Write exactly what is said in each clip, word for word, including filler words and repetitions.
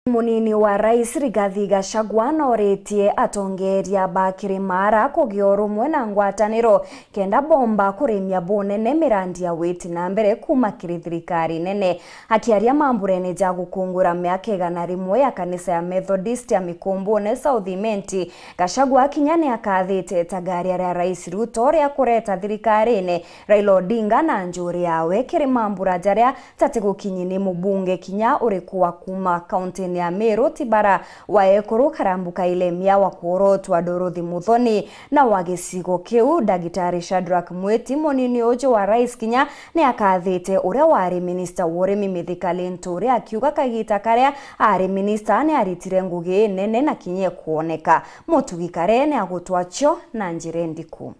Munini wa Rais Rigathi Gachagua nooritie atongeeria ba Kirimara kugia urumwe na ngwataniro kenda bomba kurimia bunene mirandi ya witi na mbere kuuma kiri thirikari nene. Akiaria mamburene ja gukungura miaka igana rimwe ya kanisa ya Methodist ya Mikumbune South Imenti, Gachagua kinya ni akathite itagaria ria Rais Ruto ria kureta thirikarine Raila Odinga na njuri yawe kiri mambura jaria jatigukinyi ni mubunge kinya uriku wa kuuma kauntini ya Meru, ti bara wa ekuru Karambu Kailemia wa kworotwa Dorothy Muthoni na wa gicigo kiu, Ndagitari Shadrack Mwiti, munini uju wa rais, kinya ni akathite uria wari minista wa urimi Mithika Linturi, akiuga kagita karia ari minista ni aritire ngugi nene na kinya ikwoneka. Mutugi Kare ni agutwa cio na njira indiku.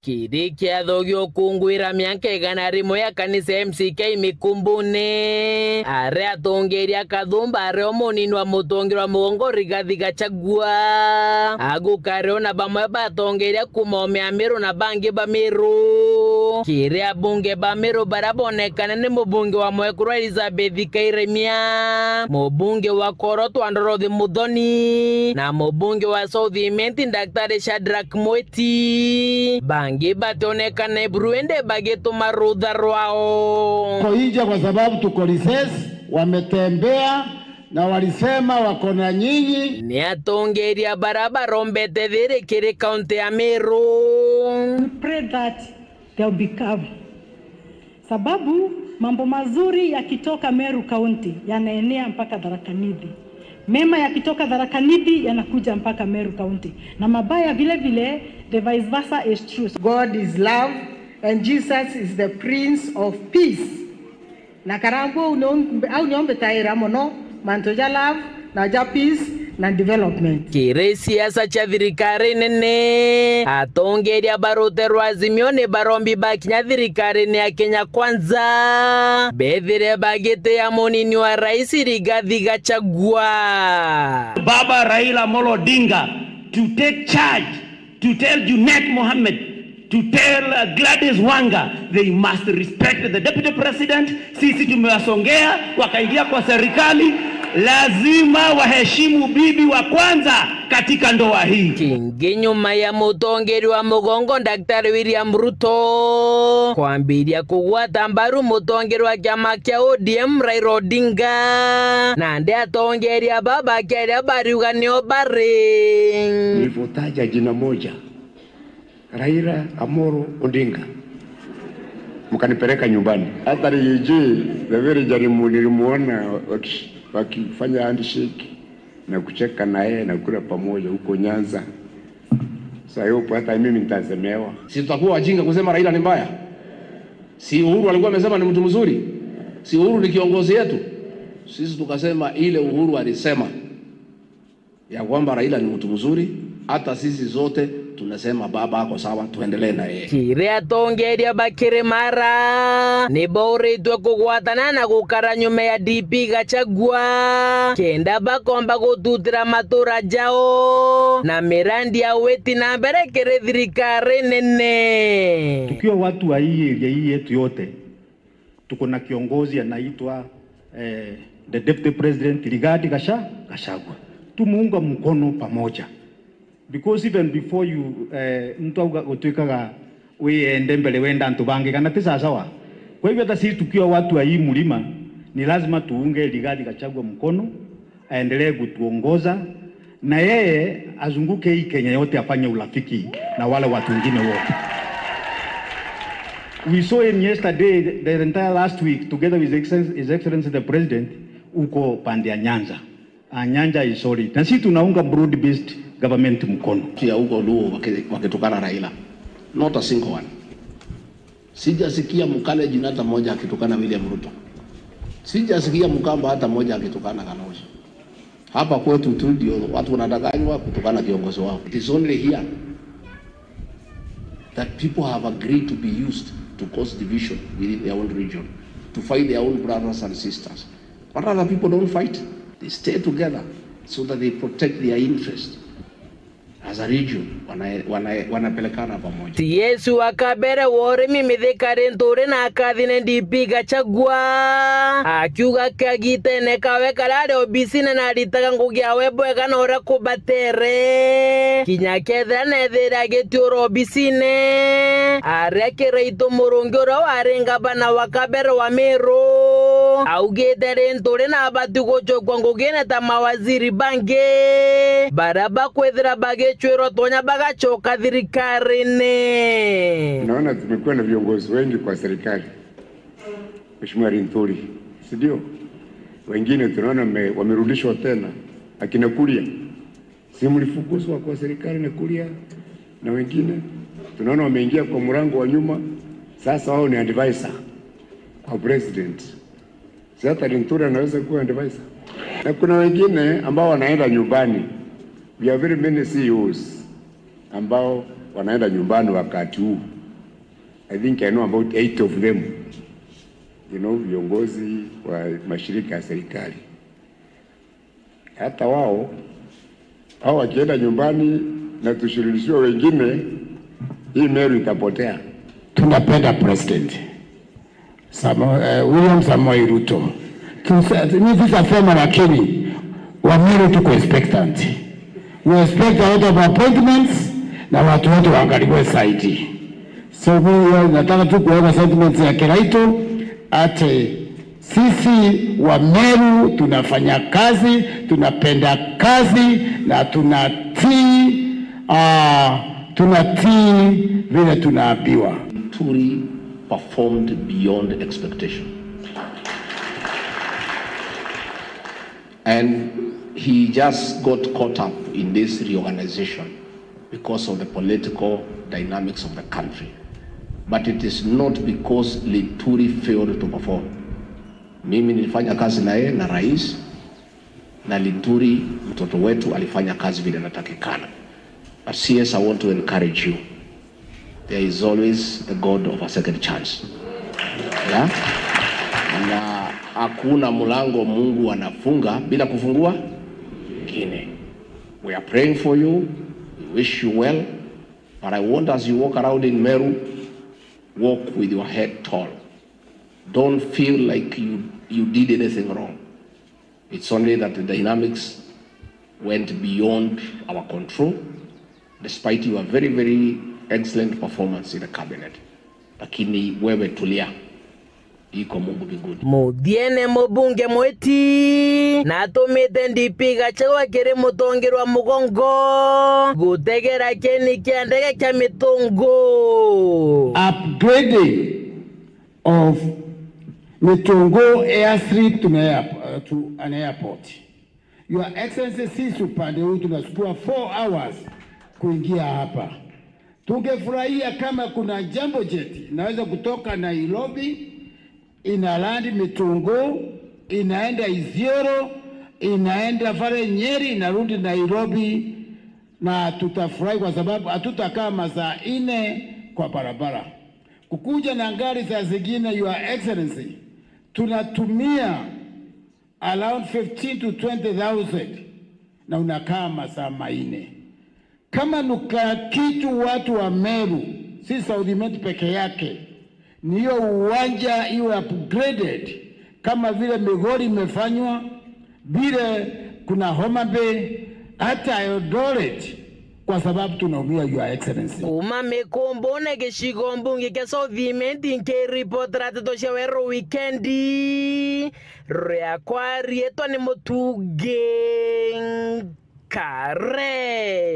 Kiri kiatho gia ukungwira miaka igana rimwe ya kanisa ya M C K Mikumbune, aria atongeria Kathumba ario munini wa mutongeria wa mugongo Rigathi Gachagua, agukario na bamwe batongeria kuuma ome ya Meru na bangi ba Meru. Kiri abunge ba Meru baria bonekane ni mubunge wa mwekuru Elizabeth Kairemia, mubunge wa Korotwa Dorothy Muthoni na mubunge wa South Imenti Daktari Shadrack Mwiti. Bangi bationekana buru indi bagituma rutha rwao. Tuko nje kwa sababu tuko recess, wametembea na walisema wako na nyinyi. Ni atongeria bara barombete thiri kiri kaunti ya Meru. We pray that there will be calm. Sababu mambo mazuri yakitoka Meru County yanaenea mpaka Tharaka Nithi. Mema yakitoka Tharaka Nithi yanakuja mpaka Meru County. Na mabaya vile vile, the vice versa is true. God is love and Jesus is the Prince of Peace. Na Karambu au nio, au nio mbitaira mono mantu ja love na ja peace na development. Kiri siasa cia thirikari nene, atongeria ba rutere rwa Azimio ni barombi bakinya thirikarine ya Kenya Kwanza bethire bagitia munini wa rais Rigathi Gachagua. Baba Raila Amolo Odinga to take charge, to tell Junet Mohammed, to tell, uh, Gladys Wanga, they must respect the deputy president. Sisi tumewasongea, wakaingia kwa serikali, lazima waheshimu bibi wa kwanza katika ndoa hii. Kingi nyuma ya mutongeria wa mugongo Daktari William Ruto kwambiria kugwata mbaru mutongeria wa kiama kia O D M Raila Odinga, nandi atongeria baba kiaria bariuga nio bari. Nilipotaja jina moja, Raila Amolo Odinga, mkanipeleka nyumbani. Hata Rigiji, the very jarimu nilimuona waki-, wakifanya handshake na kucheka na yeye na kula pamoja huko Nyanza. So I hope hata mimi nitasemewa. Si tutakuwa wajinga kusema Raila ni mbaya? Si Uhuru alikuwa amesema ni mtu mzuri? Si Uhuru ni kiongozi yetu? Sisi tukasema ile Uhuru alisema ya kwamba Raila ni mtu mzuri, hata sisi zote tunasema baba ako sawa, tuendelee na yeye. Kiri atongeria ba Kirimara ni bauritwe kugwatana na gukara nyuma ya D P Gachagua, kenda bakomba gututira matura jao na mirandi ya witi na mbere kiri thirikari nene. Tukiwa watu wa hii area hii yetu yote, tuko na kiongozi anaitwa, eh, the deputy president Rigathi Gacha-, Gachagua. Tumuunga mkono pamoja. Because even before you, eh, mtu auga gutwikaga wiyende mbere wenda antu bangi, kana ti sawasawa? Kwa hivyo hata sisi tukiwa watu wa hii mlima, ni lazima tuunge Rigathi Gachagua mkono, aendelee kutuongoza, na yeye azunguke hii Kenya yote afanye urafiki na wale watu wengine wote. We saw him yesterday, the entire last week, together with His Excellency, His Excellency the President, huko pande ya Nyanza. Ah, Nyanza is solid. Na sisi tunaunga broad-based government mkono. Ya huko Luo waki-, wakitukana Raila. Not a single one. Sijasikia Mkalenjin hata moja akitukana William Ruto. Sijasikia Mkamba hata moja akitukana Kalonzo. Hapa kwetu tu ndio watu wanadanganywa kutukana kiongozi wao. It is only here that people have agreed to be used to cause division within their own region, to fight their own brothers and sisters. But other people don't fight. They stay together so that they protect their interest. as a region, wana-, wana-, wanapelekana pamoja. C S wa kabere wa urimi Mithika Linturi na akathine D P Gachagua, akiuga kagitene kawe karia ari obisine na aritaga ngugi yawe bwega na uria kubatere. Kinya kethira nethire agitiura obisine, aria Kiraitu Murungi uria wari ngavana wa kabere wa Meru, augite Linturi na abati gucokua ngugine ta mawaziri bangi baria bakwithira bagicwirwa tonya bagacoka thirikarine. Naona tumekuwa na viongozi wengi kwa serikali, Mheshimiwa Linturi, si ndio? Wengine tunaona wame-, wamerudishwa tena, akina Kuria, si mlifukuzwa kwa serikali na Kuria na wengine? Tunaona wameingia kwa mlango wa nyuma, sasa wao ni advisor kwa president. Si hata Linturi anaweza kuwa advisor? Na kuna wengine ambao wanaenda nyumbani. We have very many C E Os ambao wanaenda nyumbani wakati huu. I think I know about eight of them. You know, viongozi wa mashirika ya serikali. Hata wao, hao wakienda nyumbani na tushirikishiwe wengine, hii Meru itapotea. Tunapenda president Samo-, eh, William Samoei Ruto. Tusa-, mi sitasema, lakini Wameru tuko expectant. We expect a lot of appointments na watu wote waangaliwe zaidi. So mi, eh, nataka tu kuweka sentiments ya Kiraitu ati sisi Wameru tunafanya kazi, tunapenda kazi na tunatii, ah, tunatii vile tunaambiwa. Linturi performed beyond expectation. And he just got caught up in this reorganization because of the political dynamics of the country. But it is not because Linturi failed to perform. Mimi nilifanya kazi na yeye na rais, na Linturi mtoto wetu alifanya kazi vile inatakikana. But C S, I want to encourage you. There is always the God of a second chance. Yeah? Na hakuna mlango Mungu anafunga bila kufungua ingine. We are praying for you. We wish you well. But I want, as you walk around in Meru, walk with your head tall. Don't feel like you, you did anything wrong. It's only that the dynamics went beyond our control, despite your very, very excellent performance in the cabinet. Lakini wewe tulia, iko Mungu mbinguni. Muthiene, mubunge mwiti natumite D P Gachagua kiri mutongerwa mugongo gutegera kieni kia ndege kia Mitungu. Upgrading of Mitungu airstrip to, airport, to an airport. Your Excellency, sisi upande huu tunachukua four hours kuingia hapa. Tungefurahia kama kuna jambo jet inaweza kutoka Nairobi, ina land Mitungu, inaenda Isiolo, inaenda pale Nyeri, inarudi Nairobi, na tutafurahi kwa sababu hatutakaa masaa nne kwa barabara. Kukuja na gari saa zingine, Your Excellency, tunatumia around fifteen to twenty thousand na unakaa masaa manne. Kama nuka kitu watu wa Meru, si South Imenti peke yake, ni hiyo uwanja iwe upgraded kama vile Migori imefanywa, vile kuna Homa Bay, hata Eldoret, kwa sababu tunaumia, Your Excellency. Kuma Mikumbune, gicigo mbunge kia South Imenti, nkiripotera nteto cia Weru Wikendi, riakwa riitwa ni Mutungi Nkare.